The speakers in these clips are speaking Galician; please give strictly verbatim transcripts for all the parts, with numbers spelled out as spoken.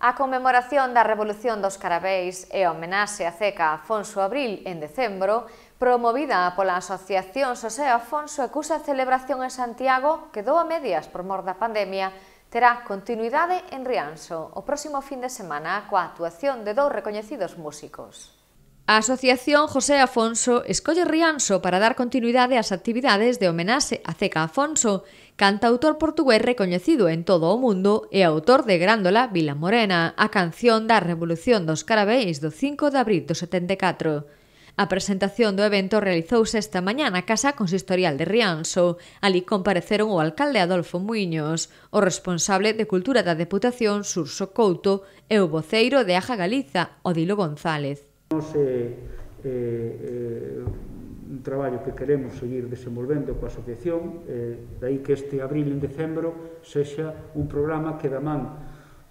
A conmemoración da Revolución dos Carabeis e a homenaxe a Ceca Afonso Abril en decembro, promovida pola Asociación Xosé Afonso e cuxa celebración en Santiago quedou a medias por mor da pandemia, terá continuidade en Rianxo o próximo fin de semana coa actuación de dous recoñecidos músicos. A Asociación Xosé Afonso escolle Rianxo para dar continuidade ás actividades de homenaxe a Ceca Afonso, cantautor portugués recoñecido en todo o mundo e autor de Grándola Vila Morena, a canción da Revolución dos Carabeis do cinco de abril do setenta e catro. A presentación do evento realizouse esta mañá na Casa Consistorial de Rianxo. Ali compareceron o alcalde Adolfo Muiños, o responsable de Cultura da Deputación Xurxo Couto e o voceiro de Aja Galiza, Odilo González. Nos é eh, eh, un traballo que queremos seguir desenvolvendo coa asociación, eh, daí que este abril en decembro sexa un programa que da man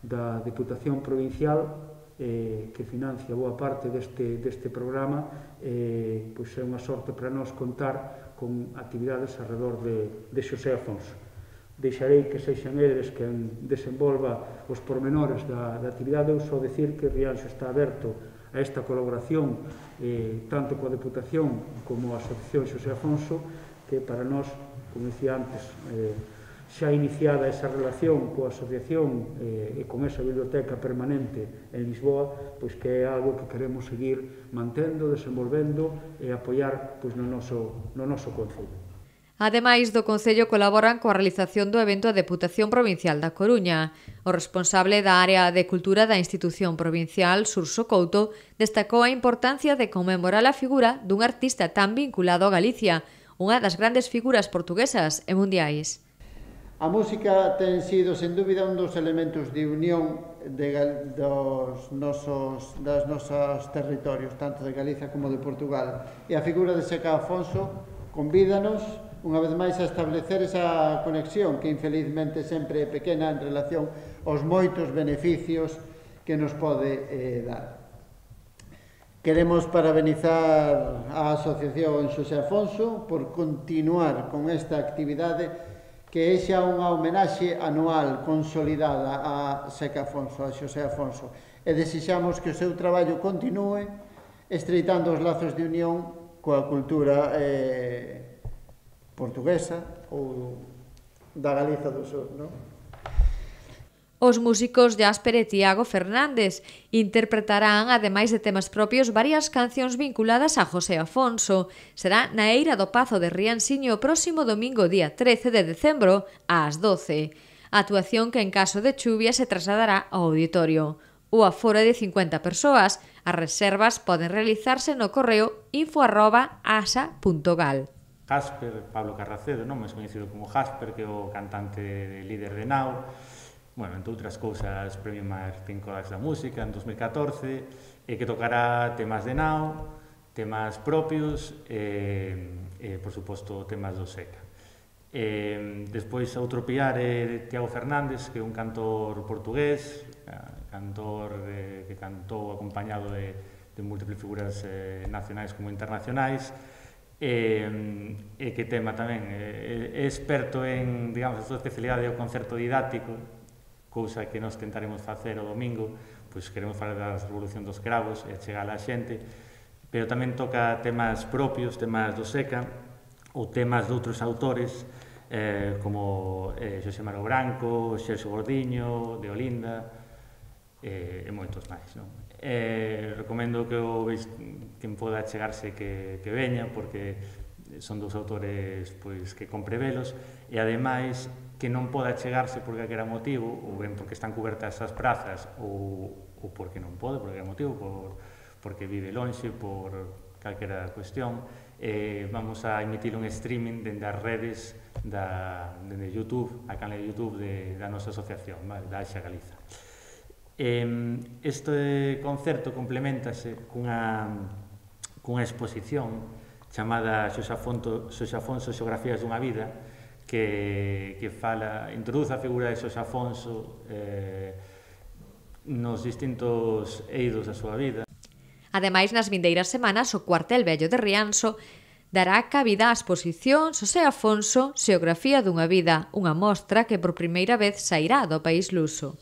da Deputación Provincial eh, que financia boa parte deste, deste programa, eh, pois é unha sorte para nós contar con actividades alrededor de, de Xosé Afonso. Deixarei que sexan eles quen desenvolva os pormenores da, da actividade. Eu só decir que Rianxo está aberto a esta colaboración eh, tanto coa Deputación como a Asociación Xosé Afonso, que para nós, como dicía antes, eh, xa iniciada esa relación coa asociación eh, e con esa biblioteca permanente en Lisboa, pois que é algo que queremos seguir mantendo, desenvolvendo e apoiar pois, no noso, no noso concello. Ademais do Concello colaboran coa realización do evento a Deputación Provincial da Coruña. O responsable da área de cultura da institución provincial, Xurxo Couto, destacou a importancia de conmemorar a figura dun artista tan vinculado a Galicia, unha das grandes figuras portuguesas e mundiais. A música ten sido, sen dúbida, un dos elementos de unión de, dos nosos, das nosos territorios, tanto de Galicia como de Portugal. E a figura de Ceca Afonso convídanos unha vez máis a establecer esa conexión que infelizmente sempre é pequena en relación aos moitos beneficios que nos pode eh, dar. Queremos parabenizar a Asociación Xosé Afonso por continuar con esta actividade que é xa unha homenaxe anual consolidada a Ceca Afonso, a Xosé Afonso, e desexamos que o seu traballo continue estreitando os lazos de unión coa cultura eh, portuguesa ou da Galiza do Sur, non? Os músicos Jasper e Tiago Fernández interpretarán, ademais de temas propios, varias cancións vinculadas a Xosé Afonso. Será na Eira do Pazo de Rianxiño o próximo domingo, día trece de decembro, ás doce. A actuación que en caso de chuvia se trasladará ao auditorio. O aforo é de cincuenta persoas. As reservas poden realizarse no correo info arroba asa punto gal. Jasper, Pablo Carracedo, non máis coñecido como Jasper, que é o cantante e líder de Nao, bueno, entre outras cousas, premio Martín Kodax da Música en dos mil catorce, e que tocará temas de Nao, temas propios e, e por suposto, temas do Ceca. E, despois, outro piar é Tiago Fernández, que é un cantor portugués, cantor eh, que cantou acompañado de, de múltiples figuras eh, nacionais como internacionais, e, e que tema tamén é, é experto en, digamos, a súa especialidade o concerto didáctico, cousa que nós tentaremos facer o domingo, pois queremos falar da Revolución dos Cravos e chegar á xente, pero tamén toca temas propios, temas do Ceca, ou temas de outros autores, eh, como eh, Xosé Maro Branco, Xerxo Gordiño, de Olinda, e, e moitos máis, non? Eh, recomendo que o veis, quen poda chegarse que, que veña, porque son dous autores pois, que compre velos, e ademais que non poda chegarse por calquera motivo, ou ben porque están cubertas as prazas, ou, ou porque non pode, por calquera motivo, por, porque vive lonxe, por calquera cuestión, eh, vamos a emitir un streaming dende as redes da, dende YouTube, a canal de YouTube de, da nosa asociación, vale, da Axa Galiza. Este concerto complementase cunha, cunha exposición chamada Xosé Afonso, Xosé Afonso Xeografías dunha vida, que, que fala, introduce a figura de Xosé Afonso eh, nos distintos eidos da súa vida. Ademais, nas vindeiras semanas, o Cuartel Vello de Rianxo dará cabida á exposición Xosé Afonso Xeografía dunha vida, unha mostra que por primeira vez sairá do país luso.